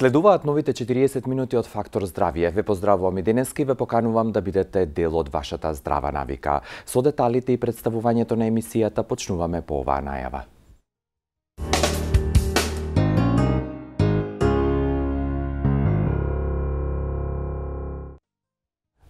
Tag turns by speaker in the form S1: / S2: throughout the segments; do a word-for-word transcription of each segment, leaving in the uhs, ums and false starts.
S1: Следуваат новите четириесет минути од Фактор здравје. Ве поздравувам и денеска и ве поканувам да бидете дел од вашата здрава навика. Со деталите и представувањето на емисијата почнуваме по оваа најава.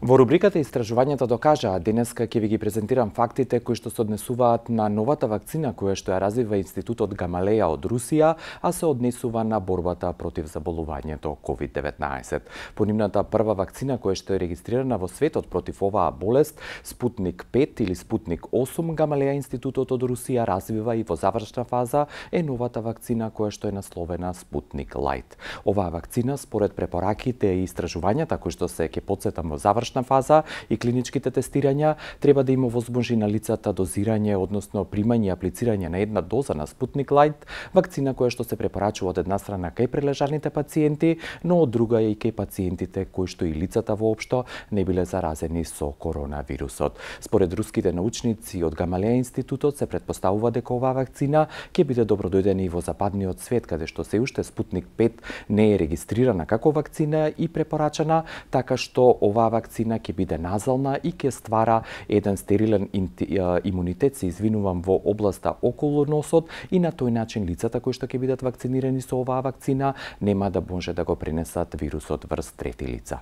S1: Во рубриката Истражувањето докажаа, денеска ќе ви ги презентирам фактите кои што се однесуваат на новата вакцина која што ја развива Институтот Гамалеја од Русија, а се однесува на борбата против заболувањето ковид деветнаесет. По нивната прва вакцина која што е регистрирана во светот против оваа болест, Спутник пет или Спутник осум, Гамалеја Институтот од Русија развива и во завршна фаза е новата вакцина која што е насловена Спутник Лайт. Оваа вакцина според препораките и истражувањата кои што се ќе потсетам во завршна фаза и клиничките тестирања треба да има возможи на лицата дозирање, односно примање и аплицирање на една доза на Спутник Лайт, вакцина која што се препорачува од една страна кај прележаните пациенти, но од друга и кај пациентите кои што и лицата воопшто не биле заразени со коронавирусот. Според руските научници од Гамалеја Институтот се претпоставува дека оваа вакцина ќе биде добродојдена и во западниот свет, каде што се уште Спутник пет не е регистрирана како вакцина и препорачана, така што оваа вакцина ќе биде назална и ќе ствара еден стерилен имунитет, се извинувам, во областа околу носот и на тој начин лицата кои што ќе бидат вакцинирани со оваа вакцина нема да може да го пренесат вирусот врз трети лица.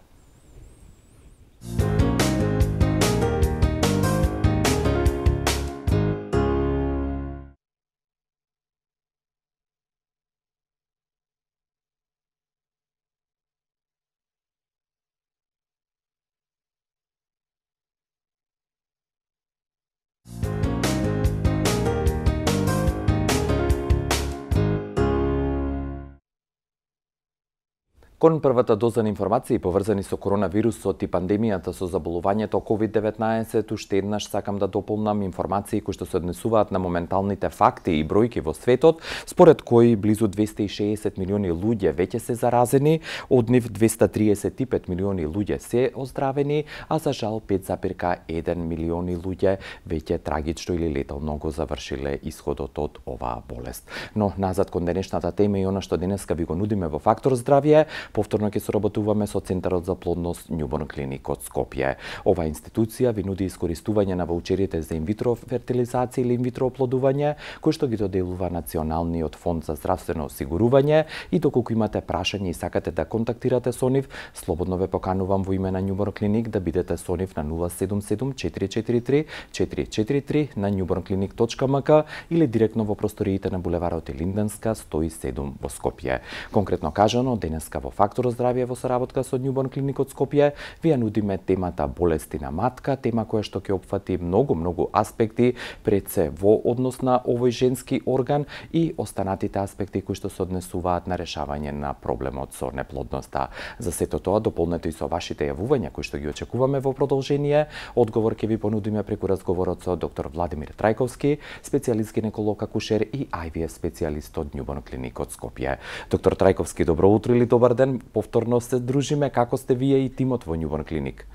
S1: Кон првата доза на информации поврзани со коронавирусот и пандемијата со заболувањето ковид деветнаесет, уште еднаш сакам да дополнам информации кои што се однесуваат на моменталните факти и бројки во светот, според кои близу двесте и шеесет милиони луѓе веќе се заразени, од нив двесте триесет и пет милиони луѓе се оздравени, а за жал пет запирка еден милиони луѓе веќе трагично или летално го завршиле исходот од оваа болест. Но назад кон денешната тема и она што денеска ви го нудиме во Фактор здравје, повторно ќе соработуваме со Центарот за плодност Њуборн Клиник од Скопје. Оваа институција ви нуди искористување на ваучерите за инвитро фертилизација или инвитро оплодување, кои што ги доделува Националниот фонд за здравствено осигурување, и доколку имате прашање и сакате да контактирате со нив, слободно ве поканувам во име на Њуборн Клиник да бидете со нив на нула седум седум четири четири три четири четири три на њуборнклиник точка ем ка или директно во просториите на булеварот Илинденска сто и седум во Скопје. Конкретно кажано, денеска во Фактор здравје во соработка со Њуборн Клиник од Скопје ви ја нудиме темата болести на матка, тема која што ќе опфати многу многу аспекти пред се во однос на овој женски орган и останатите аспекти кои што се однесуваат на решавање на проблемот со неплодноста. За сето тоа дополнете и со вашите јавувања кои што ги очекуваме во продолжение. Одговор ќе ви понудиме преку разговорот со доктор Владимир Трајковски, специјалист гинеколог акушер и Ай Ви Еф специјалист од Њуборн Клиник од Скопје. Доктор Трајковски, добро утро или добар ден. Повторно се дружиме. Како сте вие и тимот во Њуборн Клиник?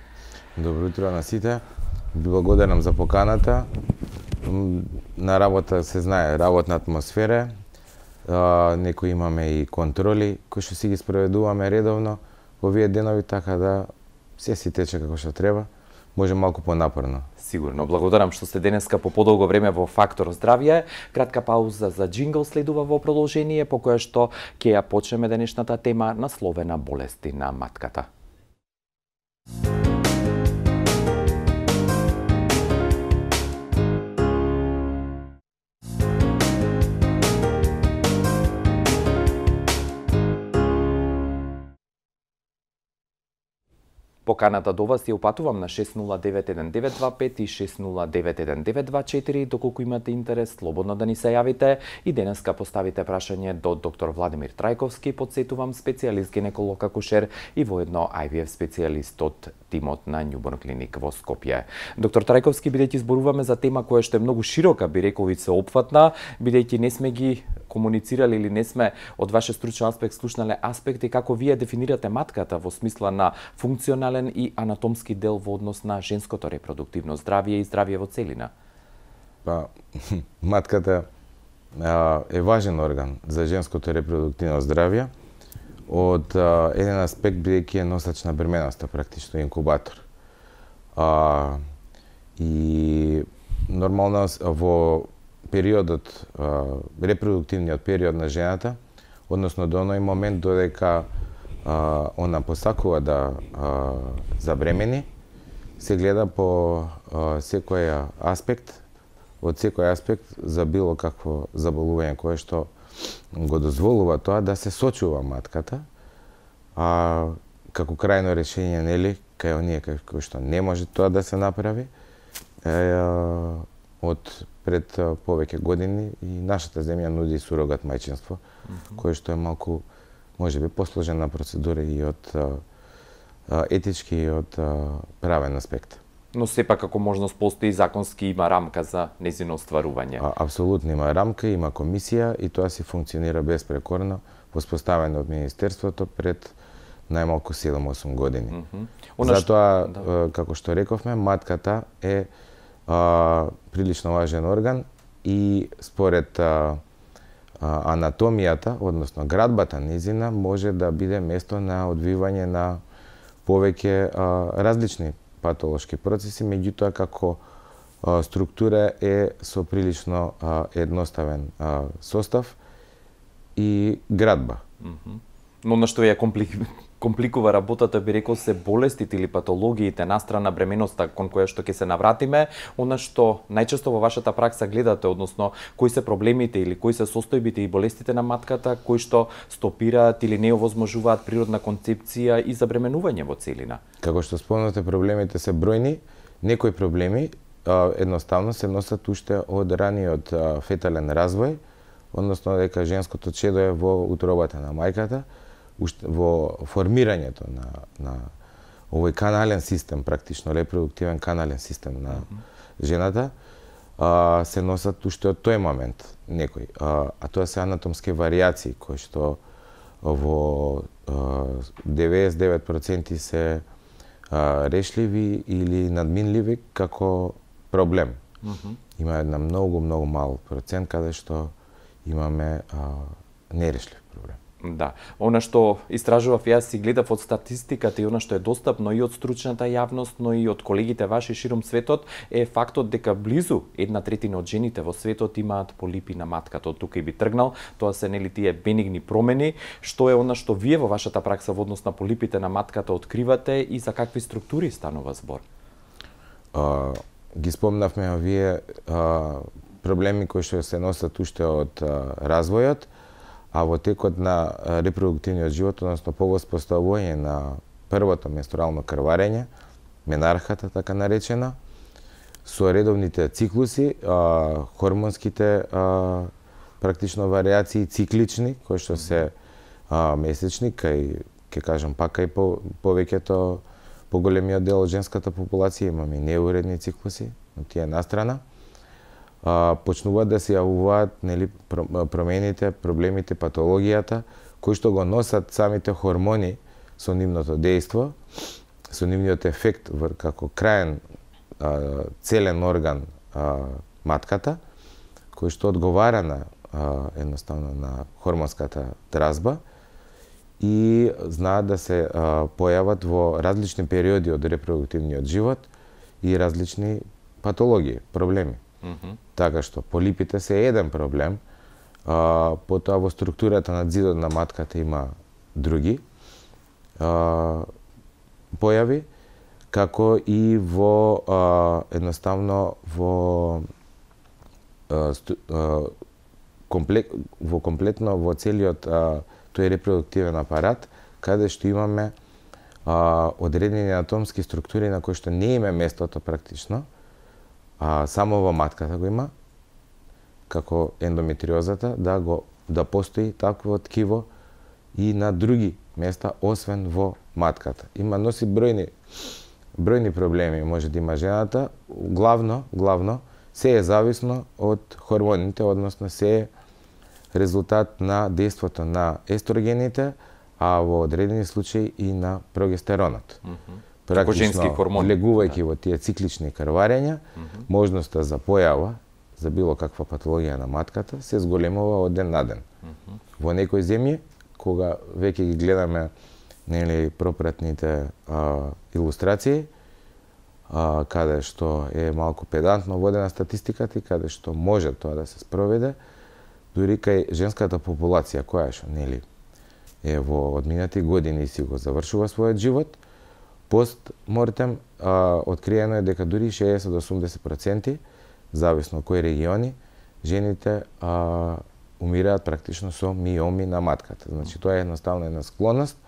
S2: Добро утро на сите. Благодарам за поканата. На работа се знае работна атмосфера. Некои имаме и контроли кои што си ги спроведуваме редовно во овие денови, така да се си тече како што треба. Може малку понапорно.
S1: Сигурно. Благодарам што сте денеска по подолго време во Фактор здравје. Кратка пауза за джингл следува во продолжение, по која што ќе ја почнеме денешната тема насловена болести на матката. Поканата до вас ја упатувам на шест нула девет еден девет два пет и шест нула девет еден девет два четири, доколку имате интерес, слободно да ни се јавите и денеска поставите прашање до доктор Владимир Трајковски, подсетувам, специјалист гинеколог акушер и воедно Ай Ви Еф специјалист од тимот на Њуборн Клиник во Скопје. Доктор Трајковски, бидејќи зборуваме за тема која што е многу широка, би рекол и сеопфатна, бидејќи не сме ги комуницирали или не сме од ваше стручен аспект слушнале аспекти како вие дефинирате матката во смисла на функционален и анатомски дел во однос на женското репродуктивно здравје и здравје во целина?
S2: Па, матката а, е важен орган за женското репродуктивно здравје. од а, еден аспект бидејќи е носач на бременоста, практично инкубатор. А, и нормално во периодот, а, репродуктивниот период на жената, односно до оној момент додека а, она посакува да а, забремени, се гледа по а, секој аспект, од секој аспект за било какво заболување кое што го дозволува тоа да се сочува матката, а како крајно решение, нели, кај оние кои што не може тоа да се направи, е, од пред повеќе години и нашата земја нуди сурогат мајчинство, mm -hmm. кое што е малку, можеби, посложена процедура и од а, етички и од а, правен аспект.
S1: Но сепак како можност постои законски, има рамка за нејзино остварување.
S2: А, апсолутно има рамка, има комисија и тоа си функционира безпрекорно, воспоставено од Министерството пред најмалку седум-осум години. Mm -hmm. Затоа, да. како што рековме, матката е а, прилично важен орган и според а, а, анатомијата, односно градбата низина, може да биде место на одвивање на повеќе а, различни патолошки процеси, меѓутоа како а, структура е со прилично а, едноставен а, состав и градба.
S1: Mm -hmm. Но на што ја комплик... компликува работата, би рекол, се болестите или патологиите настрана бременоста кон која што ќе се навратиме, она што најчесто во вашата пракса гледате, односно кои се проблемите или кои се состојбите и болестите на матката кои што стопираат или не овозможуваат природна концепција и забременување во целина.
S2: Како што спомнате, проблемите се бројни, некои проблеми а, едноставно се носат уште од раниот а, фетален развој, односно дека женското чедо е во утробата на мајката, во формирањето на, на овој канален систем, практично репродуктивен канален систем на mm -hmm. жената, а, се носат уште од тој момент некои. А, а тоа се анатомски варијации кои што во а, деветдесет и девет проценти се а, решливи или надминливи како проблем. Mm -hmm. Има една многу, многу мал процент каде што имаме а, нерешлив проблем.
S1: Да, она што истражував јас си гледав од статистиката и она што е достапно и од стручната јавност, но и од колегите ваши широм светот, е фактот дека близу една третина од жените во светот имаат полипи на матката. Од тука и би тргнал, тоа се нели тие бенигни промени, што е она што вие во вашата пракса во однос на полипите на матката откривате и за какви структури станува збор?
S2: А, ги спомнавме овие а, проблеми кои што се носат уште од а, развојот, а во текот на репродуктивниот живот, односно по воспоставување на првото менструално крварење, менархата така наречена, со редовните циклуси, а, хормонските а, практично варијации циклични, кои што се а, месечни, кај, ке кажам, пак и по, повеќето, поголемиот дел од женската популација имаме неуредни циклуси, но тие настрана. Uh, почнуваат да се јавуваат, нели, промените, проблемите, патологијата, кои што го носат самите хормони со нивното дејство, со нивниот ефект како краен uh, целен орган uh, матката, кој што одговара на uh, едноставно на хормонската дразба и знаат да се uh, појават во различни периоди од репродуктивниот живот и различни патологии, проблеми. Mm -hmm. Така што полипите се еден проблем, а, потоа во структурата на зидот на матката има други а, појави, како и во а, едноставно во а, сту, а, комплек, во комплетно во целиот а, тој репродуктивен апарат, каде што имаме а, одредени анатомски структури на кои што не има местото практично, а само во матката го има, како ендометриозата, да го да постои такво ткиво и на други места освен во матката. Има носи бројни бројни проблеми може да има жената, главно, главно се е зависно од хормоните, односно се е резултат на дејството на естрогените, а во одредени случаи и на прогестеронот. Mm -hmm. Практично, влегувајќи да. во тие циклични крварења, mm -hmm. можноста за појава за било каква патологија на матката се зголемува од ден на ден. Mm -hmm. Во некои земји, кога веќе ги гледаме нели пропратните а, илустрации, а, каде што е малку педантно водена статистиката и каде што може тоа да се спроведе, дури кај женската популација која што нели е во одминати години си го завршува својот живот, пост мортем а, откриено е дека дури шеесет до осумдесет проценти, зависно кои региони, жените а, умираат практично со миоми на матката. Значи тоа е едноставно една склонност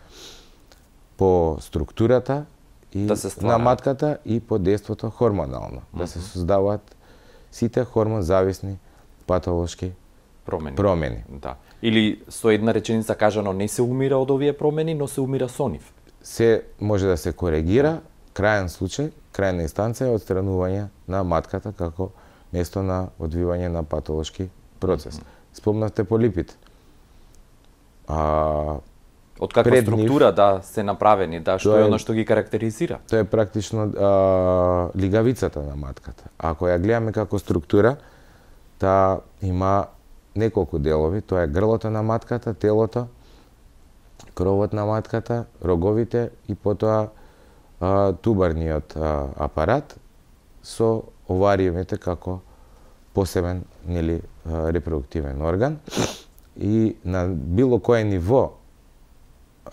S2: по структурата и
S1: да се
S2: на матката и по действото хормонално, mm-hmm. да се создаваат сите хормон зависни патолошки промени. промени.
S1: Да. Или со една реченица кажано не се умира од овие промени, но се умира со нив.
S2: Се може да се коригира, крајен случај, крајна инстанција е отстранување на матката како место на одвивање на патолошки процес. Mm-hmm. Спомнавте полипите. А,
S1: Од каква структура нив, да се направени, да, што е оно што ги карактеризира?
S2: Тоа е практично а, лигавицата на матката. Ако ја гледаме како структура, таа има неколку делови, тоа е грлото на матката, телото, кровот на матката, роговите и потоа а, тубарниот а, апарат со овариумите како посебен нели репродуктивен орган и на било кое ниво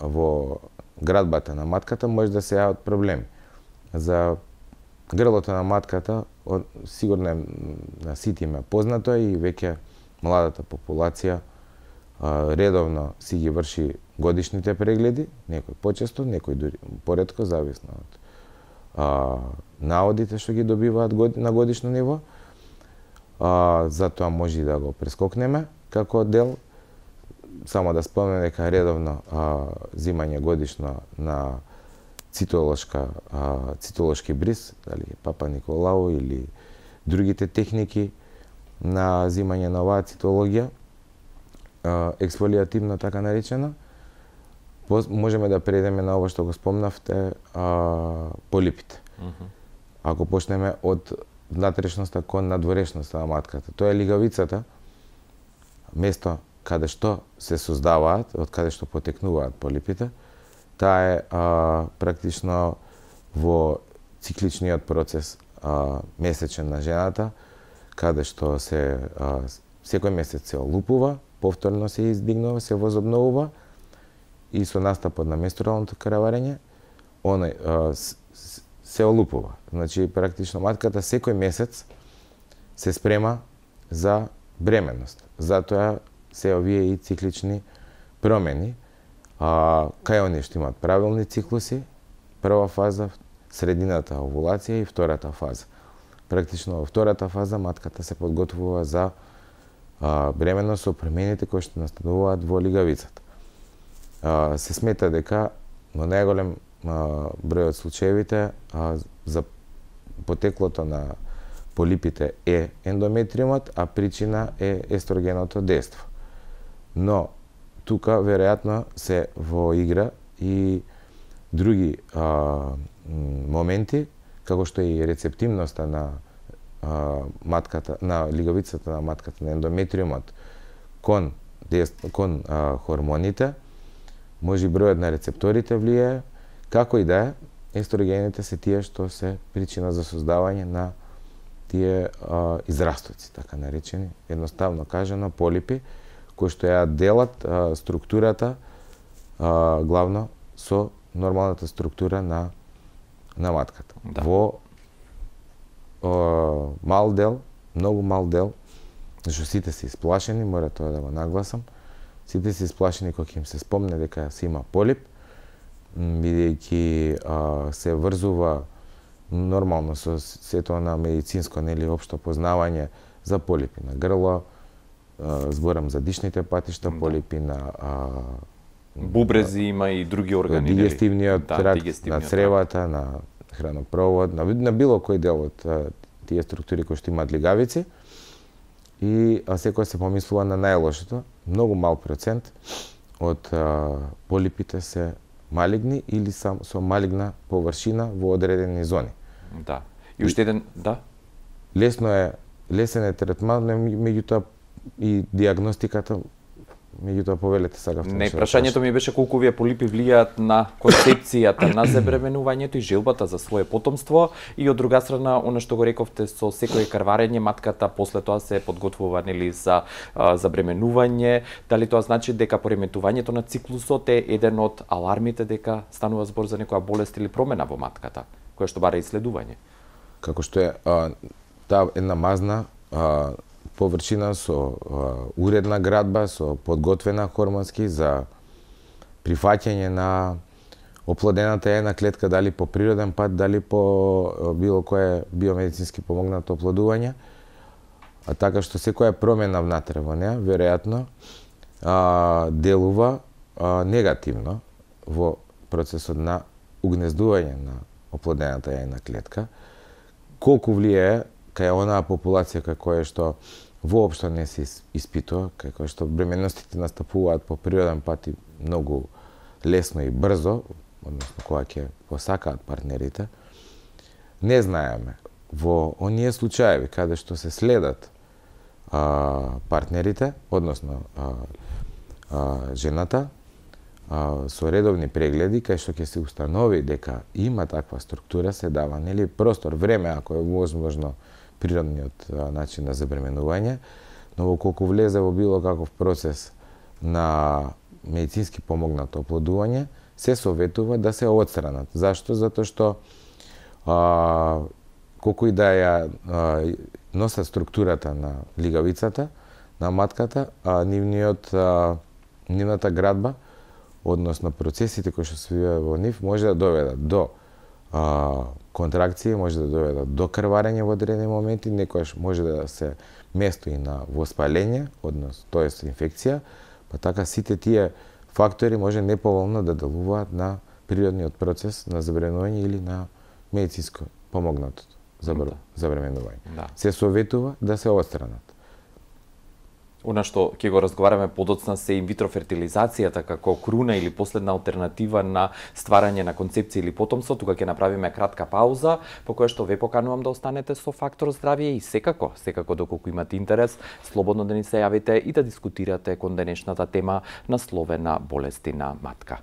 S2: во градбата на матката може да се јават проблеми. За грлото на матката сигурно е на сите им познато и веќе младата популација а, редовно си ги врши годишните прегледи, некој почесто, некој дури поретко, зависно од а, наодите што ги добиваат год, на годишно ниво. А, затоа може и да го прескокнеме како дел. Само да спомнем дека редовно а, зимање годишно на цитолошка, а, цитолошки бриз, дали Папа Николау или другите техники на зимање на оваа цитологија, а, ексфолиативно така наречено, можеме да предеме на ова што го спомнавте, а, полипите. Mm-hmm. Ако почнеме од внатрешноста кон надворешноста на матката, тоа е лигавицата, место каде што се создаваат, од каде што потекнуваат полипите, таа е а, практично во цикличниот процес а, месечен на жената, каде што се а, секој месец се олупува, повторно се издигнува, се возобновува и со настапот на менструалното крварење, оној а, се олупува. Значи практично матката секој месец се спрема за бременност. Затоа се овие и циклични промени. А, кај оние што имаат правилни циклуси, прва фаза, средината овулација и втората фаза. Практично во втората фаза матката се подготвува за а, бременност со промените кои што настануваат во лигавицата. А, се смета дека во најголем а, број од случаевите а, за потеклото на полипите е ендометриумот, а причина е естрогеното дејство. Но тука веројатно се во игра и други а, моменти, како што и рецептивноста на а, матката, на лигавицата на матката, на ендометриумот кон дејство, кон а, хормоните, може и бројот на рецепторите влијае, како и да е, естрогените се тие што се причина за создавање на тие а, израстоци, така наречени, едноставно кажано, полипи, кои што ја делат а, структурата а, главно со нормалната структура на на матката. Да. Во а, мал дел, многу мал дел, зашто сите се исплашени, мора тоа да го нагласам, сите се исплашени кога им се спомне дека се има полип, бидејќи се врзува нормално со сето на медицинско, нели, општо познавање за полипи на грло, зборам за дишните патишта, да. Полипи на а,
S1: бубрези, има и други органи,
S2: дигестивниот да, тракт, дигестивниот на цревата, тракт. На хранопровод, на, на било кој дел од а, тие структури кои што имаат лигавици. И а, секој се помислува на најлошото, многу мал процент од а, полипите се малигни или сам со малигна површина во одредени зони.
S1: Да. И уште еден, да.
S2: Лесно е, лесен е третман, меѓутоа и диагностиката меѓутоа повелете сакав.
S1: Не, прашањето ми беше колку овие полипи влијаат на концепцијата на забременувањето и желбата за свое потомство, и од друга страна, она што го рековте со секој карварење, матката после тоа се подготвува нели за а, забременување, дали тоа значи дека пореметувањето на циклусот е еден од алармите дека станува збор за некоја болест или промена во матката, која што бара исследување?
S2: Како што е а, таа една мазна а, површина со а, уредна градба, со подготвена хормонски за прифаќање на оплодената јајна клетка, дали по природен пат, дали по било кое биомедицински помогнато оплодување, а така што секоја промена внатре во неа, веројатно, а, делува а, негативно во процесот на угнездување на оплодената јајна клетка. Колку влијае кај онаа популација кај која што воопшто не се испитува, кај која што бременностите настапуваат по природен пат и многу лесно и брзо, односно кога ќе посакаат партнерите, не знаеме. Во оние случаеви каде што се следат а, партнерите, односно а, а, жената, а, со редовни прегледи, кај што ќе се установи дека има таква структура, се дава нели простор, време, ако е возможно, природниот а, начин на забременување, но колку влезе во било каков процес на медицински помогнато оплодување, се советува да се отстранат. Зашто? Затоа што а, колку и да ја а, носат структурата на лигавицата, на матката, а нивниот а, нивната градба, односно процесите кои што се вијаат во нив, може да доведат до а, контракции, може да доведат до крварење во одредени моменти, некојаш може да се место и на воспалење, односно, тоест инфекција, па така сите тие фактори може неповолно да делуваат на природниот процес на забременување или на медицинско помогнато забременување. Да. Се советува да се отстранат.
S1: Она што ќе го разговараме подоцна се инвитро фертилизацијата како круна или последна алтернатива на стварање на концепција или потомство. Тука ќе направиме кратка пауза, по која што ве поканувам да останете со Фактор здравје и секако, секако доколку имате интерес, слободно да ни се јавите и да дискутирате кон денешната тема насловена болести на матка.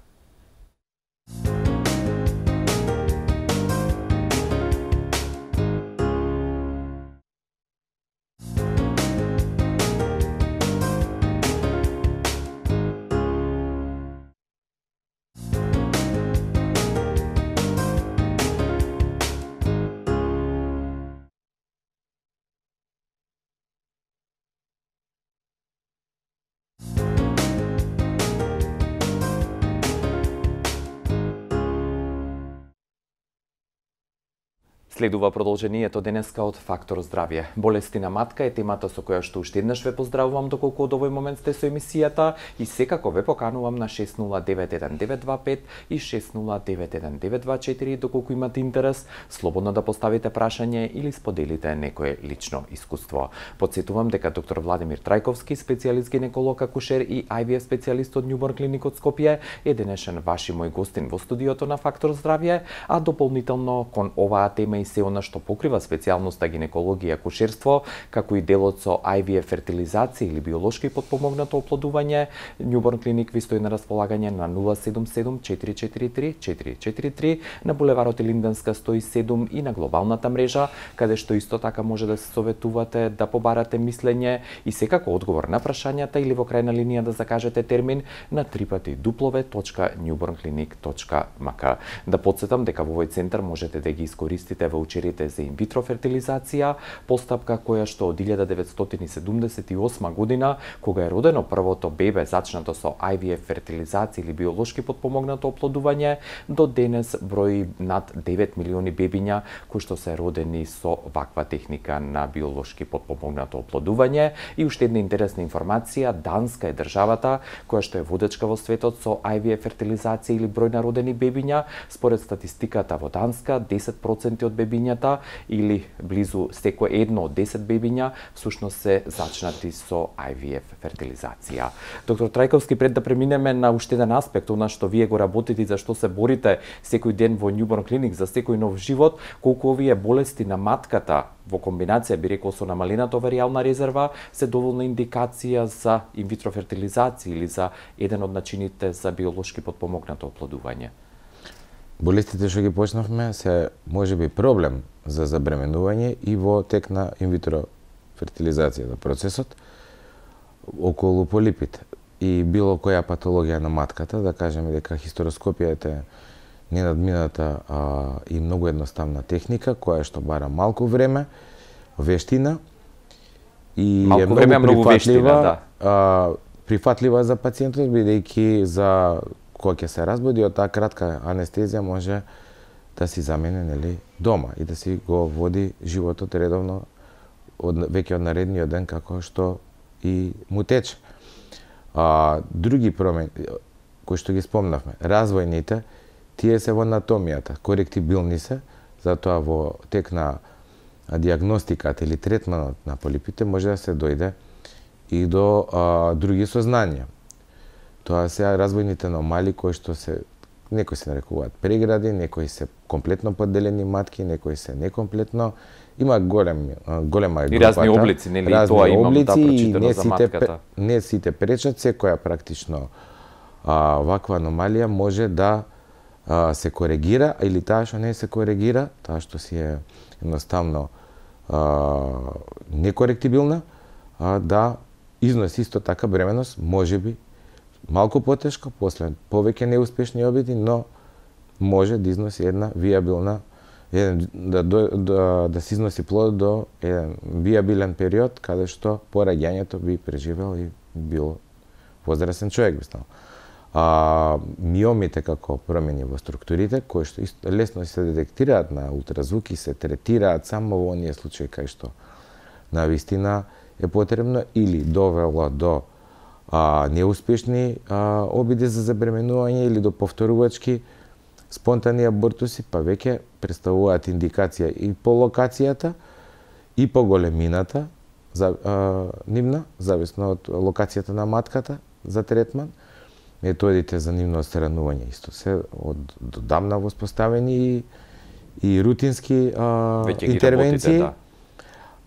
S1: Следува продолжението денеска од Фактор здравје. Болести на матка е темата со која што уште еднаш ве поздравувам доколку од овој момент сте со емисијата и секако ве поканувам на шест нула девет еден девет два пет и шест нула девет еден девет два четири доколку имате интерес, слободно да поставите прашање или споделите некое лично искуство. Подсетувам дека доктор Владимир Трајковски, специјалист гинеколог, акушер и Ай Ви Еф специјалист од Њуборн клиник од Скопје, е денешен ваш и мој гостин во студиото на Фактор здравје, а дополнително кон оваа тема и се она што покрива специјалноста гинекологија и акушерство, како и делот со Ай Ви Еф фертилизација или биолошки потпомогнато оплодување, Њуборн клиник ви стои на располагање на нула седум седум четири четири три четири четири три на булеварот Илинденска сто и седум и на глобалната мрежа, каде што исто така може да се советувате, да побарате мислење и секако одговор на прашањата или во крајна линија да закажете термин на трипати дуплове точка њуборн клиник точка ем ка. Да подсетам дека во овој центар можете да ги искористите ваучерите за инвитро фертилизација, постапка која што од илјада деветстотини седумдесет и осма година, кога е родено првото бебе зачнато со Ай Ви Еф фертилизација или биолошки потпомогнато оплодување, до денес брои над девет милиони бебиња кои што се родени со ваква техника на биолошки потпомогнато оплодување. И уште една интересна информација, Данска е државата која што е водечка во светот со Ай Ви Еф фертилизација или број на родени бебиња. Според статистиката во Данска, десет проценти од бебињата или близу секој едно од десет бебиња всушност се зачнати со ај ви еф фертилизација. Доктор Трајковски, пред да преминеме на уште еден аспект, она што вие го работите и за што се борите секој ден во Newborn Clinic за секој нов живот, колку овие болести на матката во комбинација, би рекол, со намалената оверијална резерва, се доволна индикација за инвитро фертилизација или за еден од начините за биолошки потпомогнато оплодување?
S2: Болестите што ги почнавме се можеби проблем за забременување и во тек на инвитро фертилизацијата, процесот околу полипите и било која патологија на матката, да кажеме дека хистероскопијата е ненадмината а, и многу едноставна техника, која што бара малку време, вештина и
S1: малку
S2: е многу
S1: време, многу вештина, да.
S2: А, прифатлива за пациентот, бидејќи за кога ќе се разбуди од таа кратка анестезија може да си замени, нели, дома и да си го води животот редовно од веќе од наредниот ден како што и му тече. А, други промени кои што ги спомнавме, развојните, тие се во анатомијата, коректибилни се, затоа во тек на диагностиката или третманот на полипите може да се дојде и до а, други сознанија. Тоа се развојните аномалии кои што се некои се нарекуваат прегради, некои се комплетно подделени матки, некои се некомплетно. Има голем голема групата.
S1: И разни облици, нели,
S2: разни
S1: тоа имам
S2: облици,
S1: да прочитано
S2: не
S1: за
S2: сите,
S1: матката.
S2: Не сите пречат, секоја практично а, ваква аномалија може да а, се коригира, или таа што не се коригира, таа што си е едноставно а, некоректибилна, а, да износи исто така бременост, можеби малку потешко, после повеќе неуспешни обиди, но може да износи една виабилна, еден, да, да, да се износи плод до еден виабилен период, каде што пораѓањето би преживел и бил возрастен човек би станал. А, миомите како промени во структурите, кои што лесно се детектираат на ултразвук и се третираат само во оние случаи кај што на вистина е потребно или довело до а, неуспешни а, обиди за забременување или до повторувачки спонтани абортуси, па веќе представуваат индикација и по локацијата и по големината за, а, нивна, зависно од локацијата на матката за третман. Методите за нивно отстранување исто се од додамна воспоставени и, и рутински а, интервенции. Работите, да.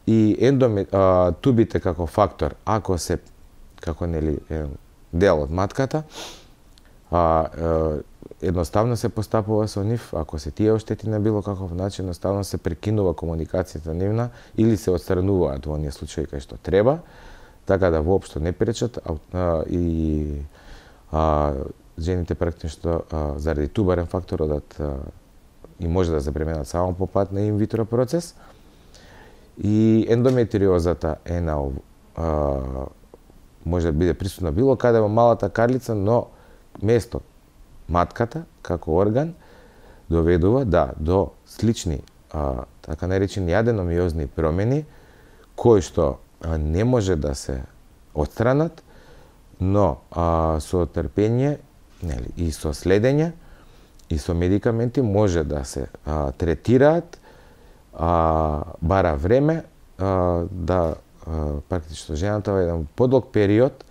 S2: И ендоми, а, тубите како фактор, ако се како нели дел од матката, а, а, едноставно се постапува со нив, ако се тие оштети на било каков начин, едноставно се прекинува комуникацијата нивна или се отстрануваат во оние случаи кај што треба, така да воопшто не пречат а, а, и а, жените практично а, заради тубарен фактор одат а, и може да забременат само по пат на инвитро процес. И ендометриозата е на а, може да биде присутна било каде во малата карлица, но место матката како орган доведува да до слични а, така наречени аденомиозни промени кои што а, не може да се отстранат, но а, со трпење, нели, и со следење и со медикаменти може да се а, третираат, а, бара време а, да а, практично жената во еден подолг период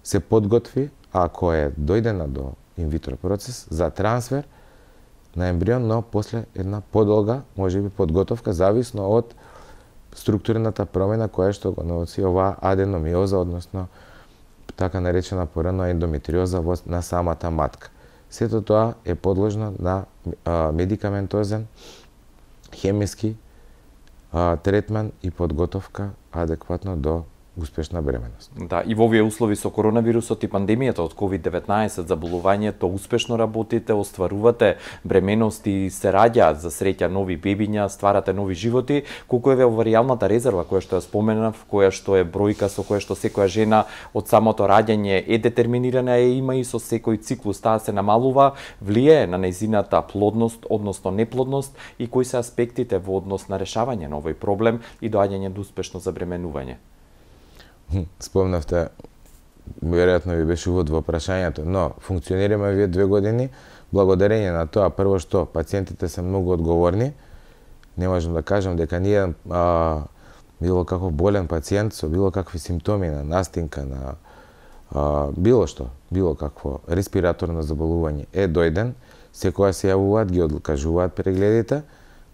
S2: се подготви, ако е дојдена до инвитро процес, за трансфер на ембрион, но после една подолга, можеби подготовка, зависно од структурната промена која што го носи оваа аденомиоза, односно така наречена порано ендометриоза на самата матка. Сето тоа е подложно на а, медикаментозен, хемиски а, третман и подготовка адекватно до успешна бременост.
S1: Да, и во овие услови со коронавирусот и пандемијата од ковид деветнаесет, заболувањето, успешно работите, остварувате бременост и се раѓаат за среќа нови бебиња, стварате нови животи, колку е оваријалната резерва која што ја споменав, која што е бројка со која што секоја жена од самото раѓање е детерминирана и има и со секој циклус таа се намалува, влијае на нејзината плодност, односно неплодност и кои се аспектите во однос на решавање на овој проблем и доаѓање до успешно забременување?
S2: Спомнавте, веројатно ви беше увод во прашањето, но функционираме вие две години благодарење на тоа, прво што пациентите се многу одговорни, не можам да кажам дека ние а, било каков болен пациент со било какви симптоми на настинка, на а, било што, било какво респираторно заболување е дојден, секоја се јавуваат, ги откажуваат прегледите.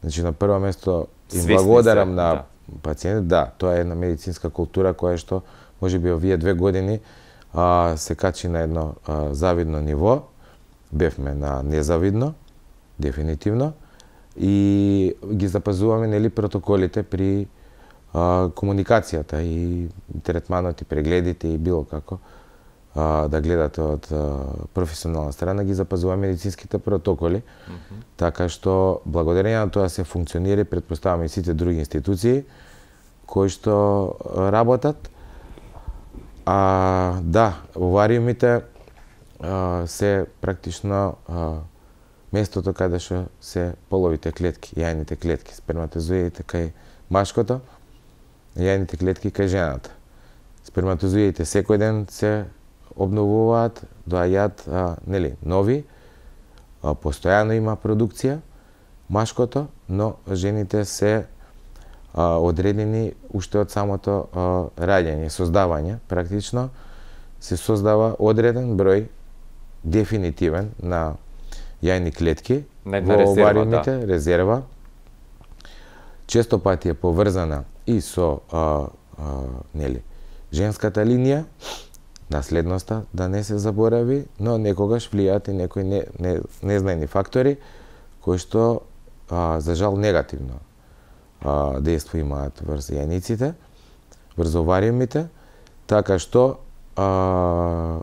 S2: Значи на прво место им благодарам се, на да. пациентите, да, тоа е една медицинска култура која што можеби овие две години а, се качи на едно а, завидно ниво, бевме на незавидно, дефинитивно, и ги запазуваме нели протоколите при а, комуникацијата и третманот и прегледите и било како а, да гледате од а, професионална страна, ги запазуваме медицинските протоколи, mm -hmm. така што благодарение на тоа се функционира и претпоставаме и сите други институции кои што работат. А, да, овариумите а, се практично а, местото каде што се половите клетки, јајните клетки, сперматозоидите кај машкото, јајните клетки кај жената. Сперматозоидите секој ден се обновуваат, доаѓаат а, нели нови, а, постојано има продукција машкото, но жените се а, одредени уште од самото а, раѓање, создавање, практично се создава одреден број дефинитивен на јајни клетки во овариумите, да. резерва. Често пати е поврзана и со а, а, нели женската линија, наследноста, да не се заборави, но некогаш влијаат и некои не, не, незнаени фактори кои што а, за жал негативно а, дејство имаат врз јајниците, врз овариумите, така што а,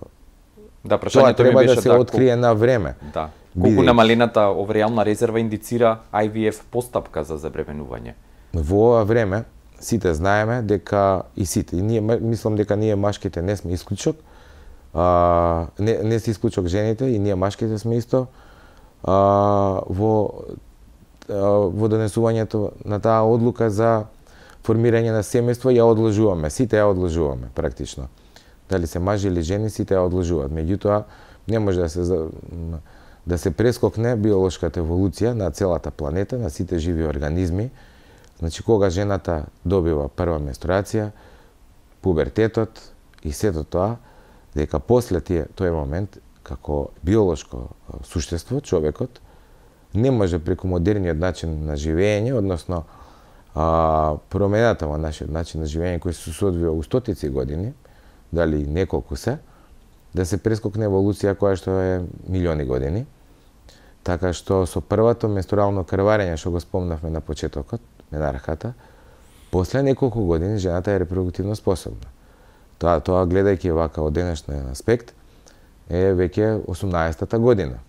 S1: да,
S2: тоа треба да се
S1: да,
S2: открие на време.
S1: Да. Колку намалената оваријална резерва индицира Ай Ви Еф постапка за забременување?
S2: Во ова време сите знаеме дека и сите, и ние мислам дека ние машките не сме исклучок, а, не, не се исклучок жените и ние машките сме исто а, во а, во донесувањето на таа одлука за формирање на семејство ја одложуваме, сите ја одложуваме практично. Дали се мажи или жени, сите ја одложуваат. Меѓутоа не може да се да се прескокне биолошката еволуција на целата планета, на сите живи организми. Значи, кога жената добива прва менструација, пубертетот и сето тоа, дека после тие тој момент, како биолошко суштество, човекот, не може преку модерниот начин на живење, односно а, промената во нашиот начин на живење, кој се соодвива у стотици години, дали неколку се, да се прескокне еволуција која што е милиони години. Така што со првото менструално крварење, што го спомнавме на почетокот, менархата, после неколку години жената е репродуктивно способна. Тоа, тоа гледајќи вака од денешен аспект, е веќе осумнаесетата година.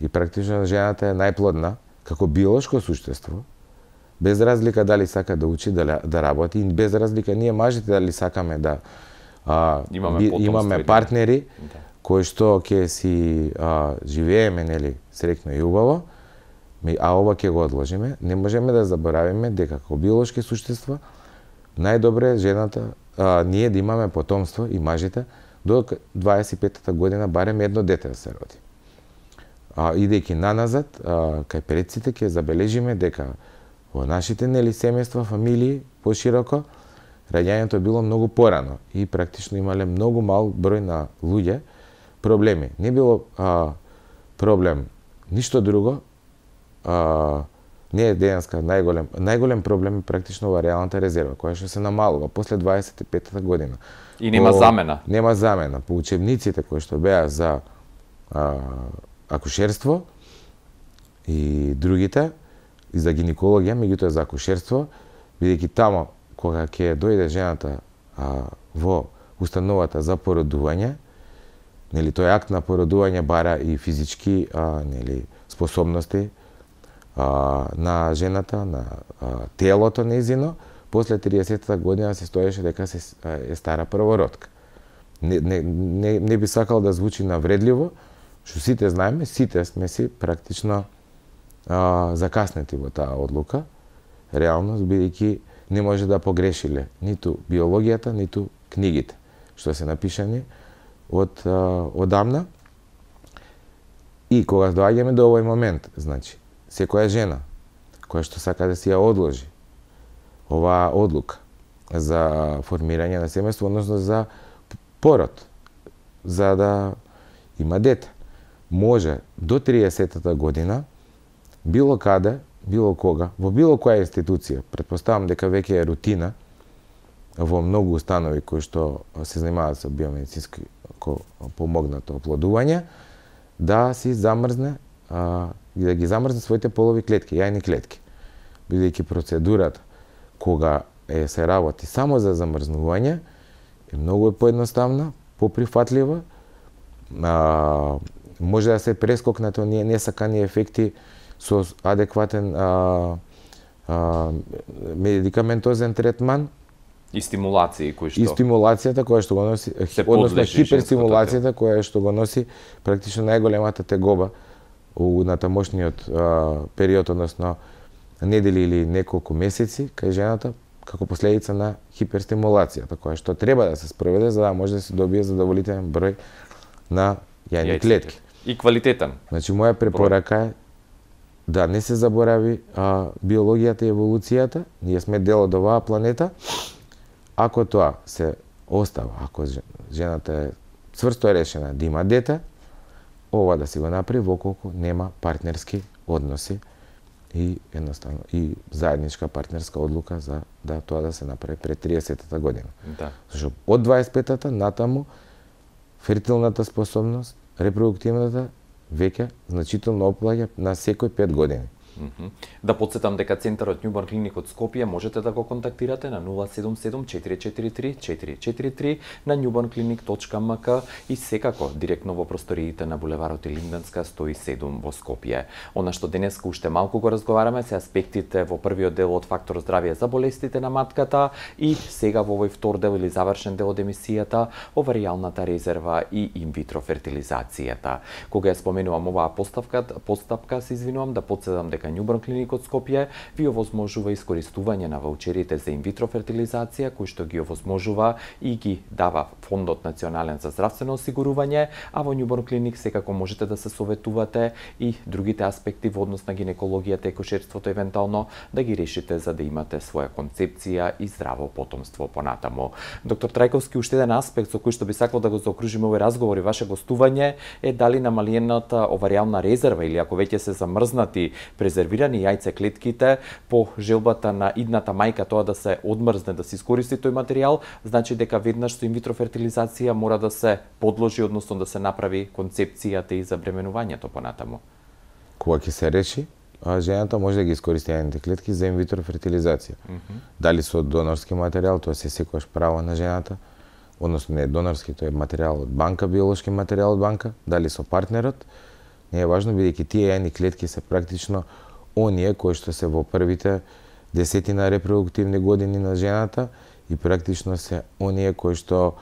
S2: И практично жената е најплодна како биолошко суштество, без разлика дали сака да учи, да, да работи, и без разлика ние мажите дали сакаме да а,
S1: имаме,
S2: би, имаме партнери,
S1: да. кои
S2: што ќе си а, живееме, нели, среќно и убаво, а ова ќе го одложиме, не можеме да заборавиме дека како биолошки суштества најдобре е жената, а, ние да имаме потомство и мажите до дваесет и петата година барем едно дете да се роди. А, идејќи наназад, а, кај предците ќе забележиме дека во нашите нели семејства, фамилии, пошироко, раѓањето било многу порано и практично имале многу мал број на луѓе проблеми. Не било а, проблем ништо друго, а, не е денеска најголем, најголем проблем е практично оваријалната резерва, која што се намалува после дваесет и петата година.
S1: И нема
S2: По,
S1: замена.
S2: Нема замена. По учебниците кои што беа за а, акушерство и другите, и за гинекологија, меѓутоа за акушерство, бидејќи тамо кога ќе дојде жената а, во установата за породување, нели тој акт на породување бара и физички а, нели способности а, на жената, на а, телото нејзино, после триесетата година се стоеше дека се е стара првородка. Не, не, не, не би сакал да звучи навредливо, што сите знаеме, сите сме си практично а, закаснети во таа одлука, реално, бидејќи не може да погрешиле ниту биологијата, ниту книгите, што се напишани од а, одамна. И кога доаѓаме до овој момент, значи, секоја жена која што сака да си ја одложи оваа одлука за формирање на семејство, односно за пород, за да има дете, може до триесеттата година било каде, било кога, во било која институција, претпоставам дека веќе е рутина во многу установи кои што се занимаваат со биомедицински помогнато оплодување, да си замрзне а, да ги замрзне своите полови клетки, јајни клетки. Бидејќи процедурата кога е се работи само за замрзнување е многу поедноставна, поприфатлива, а, може да се прескокнат оние несакани ефекти со адекватен а, а, медикаментозен третман
S1: и стимулации кои што
S2: и стимулацијата која што го носи, односно хиперстимулацијата која што го носи практично најголемата тегоба у натамошниот а, период, односно недели или неколку месеци кај жената како последица на хиперстимулацијата која што треба да се спроведе за да може да се добие задоволителен број на јајни клетки.
S1: И квалитетен.
S2: Значи моја препорака е да не се заборави а, биологијата и еволуцијата, ние сме дел од оваа планета. Ако тоа се остава, ако жената е цврсто решена да има дете, ова да си го направи воколку нема партнерски односи и едноставно и заедничка партнерска одлука за да тоа да се направи пред триесеттата година.
S1: Да.
S2: Зашто од дваесет и петата натаму фертилната способност, репродуктивната веќе значително оплаќа на секој пет години.
S1: Mm-hmm. Да подсетам дека Центарот Њуборн Клиник од Скопје можете да го контактирате на нула седум седум четири четири три четири четири три на newbornclinic точка ем ка и секако директно во просториите на булеварот Илинденска сто и седум во Скопје. Она што денеска уште малку го разговараме се аспектите во првиот дел од фактор здравје за болестите на матката и сега во овој втор дел или завршен дел од емисијата оваријалната резерва и инвитро фертилизацијата. Кога ја споменувам оваа постапка, постапка се извинувам да подсетам дека Њуборн Клиник од Скопје ви овозможува искористување на ваучерите за инвитро фертилизација кои што ги овозможува и ги дава Фондот национален за здравствено осигурување, а во Њуборн Клиник секако можете да се советувате и другите аспекти во однос на гинекологијата и кошерството евентуално да ги решите за да имате своја концепција и здраво потомство понатаму. Доктор Трајковски, уште еден аспект со кој што би сакал да го заокружиме овој разговор и ваше гостување е дали намалената оваријална резерва или ако веќе се замрзнати презервирани јајцеклетките по желбата на идната мајка тоа да се одмрзне, да се искористи тој материјал, значи дека веднаш со инвитро фертилизација мора да се подложи, односно да се направи концепцијата и забременувањето понатаму.
S2: Кога ќе се реши, а жената може да ги искористи јајните клетки за инвитро фертилизација. Mm -hmm. Дали со донорски материјал, тоа се секогаш право на жената, односно не е донорски, тоа е материјал од банка, биолошки материјал од банка, дали со партнерот, не е важно, бидејќи тие јајни клетки се практично оние кои што се во првите десетина репродуктивни години на жената и практично се оние кои што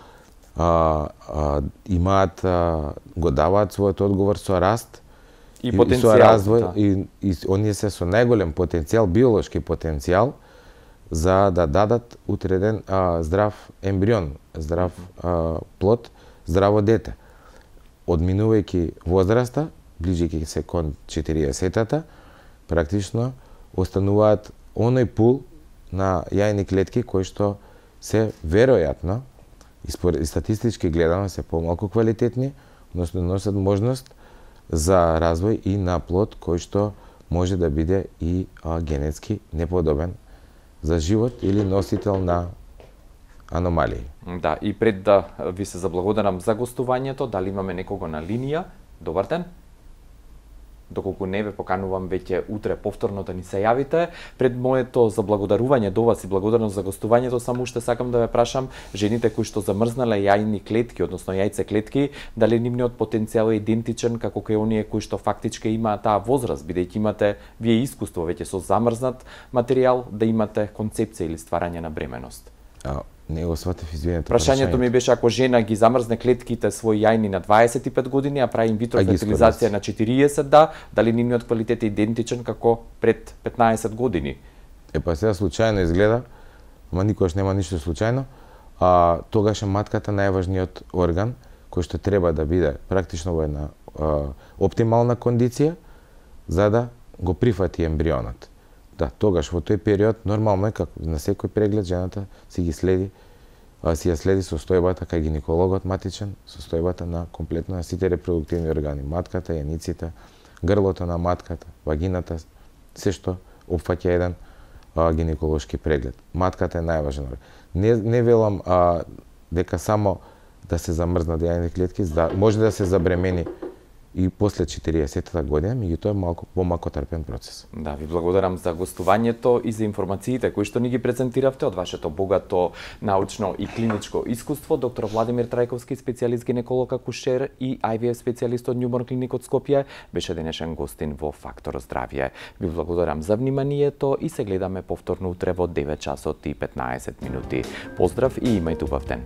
S2: а, а, имаат, а, го даваат својот одговор со раст
S1: и,
S2: и
S1: потенцијал,
S2: со развој
S1: да.
S2: и, и оние се со најголем потенцијал, биолошки потенцијал за да дадат утреден а, здрав ембрион, здрав а, плод, здраво дете. Одминувајќи возраста, ближејќи се кон четириесеттата, практично остануваат оној пул на јајни клетки кои што се веројатно и статистички гледано се помалку квалитетни, односно носат можност за развој и на плод кој што може да биде и а, генетски неподобен за живот или носител на аномалии.
S1: Да, и пред да ви се заблагодарам за гостувањето, дали имаме некого на линија? Добар ден. Доколку не ве поканувам веќе утре повторно да ни се јавите. Пред моето заблагодарување до вас и благодарност за гостувањето, само уште сакам да ве прашам, жените кои што замрзнале јајни клетки, односно јајце клетки, дали нивниот потенцијал е идентичен како кај оние кои што фактички имаат таа возраст, бидејќи имате вие искуство веќе со замрзнат материјал да имате концепција или стварање на бременост?
S2: А, не го сватев, извинете.
S1: Прашањето ми беше ако жена ги замрзне клетките своји јајни на дваесет и пет години, а прави инвитро фертилизација на четириесет, да, дали нивниот квалитет е идентичен како пред петнаесет години?
S2: Е, па сега случајно изгледа, ама никогаш нема ништо случајно, а тогаш е матката најважниот орган кој што треба да биде практично во една а, оптимална кондиција за да го прифати ембрионот. Да, тогаш во тој период нормално е како на секој преглед жената си ги следи, а, си ја следи состојбата кај гинекологот матичен, состојбата на комплетно на сите репродуктивни органи, матката, јаниците, грлото на матката, вагината, се што опфаќа еден а, гинеколошки преглед. Матката е најважен орган. Не, не велам а, дека само да се замрзнат јајните клетки, да, може да се забремени и после четириесеттата година, меѓутоа е малку помалку трпен процес.
S1: Да, ви благодарам за гостувањето и за информациите кои што ни ги презентиравте од вашето богато научно и клиничко искуство. Доктор Владимир Трајковски, специјалист гинеколог акушер и Ай Ви Еф специјалист од Њумор клиник од Скопје, беше денешен гостин во Фактор здравје. Ви благодарам за вниманието и се гледаме повторно утре во девет часот и петнаесет минути. Поздрав и имајте убав ден.